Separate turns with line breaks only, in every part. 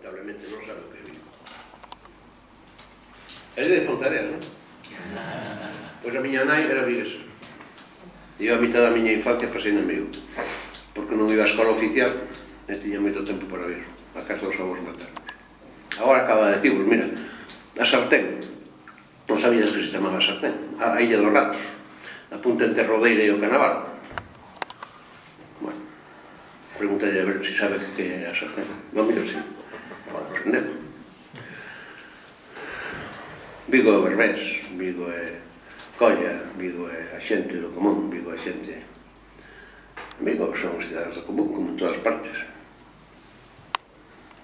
lamentablemente non sabe o que é Vigo. É de Pontevedra, non? Pois a miña nai era viguesa. E eu a mitad da miña infancia pasei en Vigo, porque non iba á escola oficial e tiña moito tempo para vir a casa dos avós maternos. Agora acaba de decirvos, mira, a Sartén, non sabías que se chamaba Sartén, a Illa dos Ratos, a punta entre Rodeira e o Canaval. Bueno, pregúntale a ver se sabe que é a Sartén. Non, mira, sí, pode aprender. Vigo é o Berbés, Vigo é Colla, Vigo é a xente do común, Vigo é a xente... Vigo son os cidadanos do común, como en todas partes.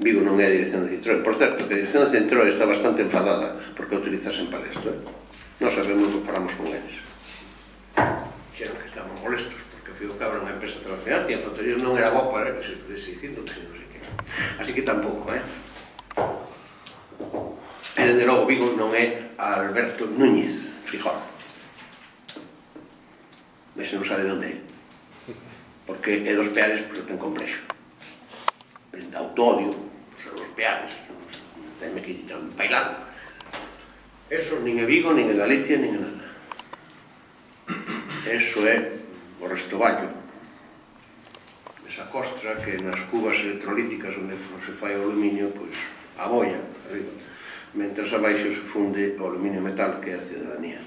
Vigo non é a dirección de Citroën. Por certo, que a dirección de Citroën está bastante enfadada porque a utilizasen para isto. Non sabemos o que falamos con eles. Xeron que estaban molestos porque o Figo Cabra unha empresa transnacional e a Fontería non era bo para que se pudese dicindo que se non sei que. Así que tampouco, E, desde logo, Vigo non é Alberto Núñez Frijol. Ese non sabe onde é. Porque é dos Peares, pero ten complexo. De autoodio, os Peares, tenme que ir tan bailando. Eso nin é Vigo, nin é Galicia, nin é nada. Eso é o Restoballo. Esa costra que nas cubas electrolíticas onde se fai o aluminio, pois, a boia, arriba. Mentres abaixo se funde o aluminio metal, que é a cidadanía.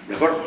De acordo?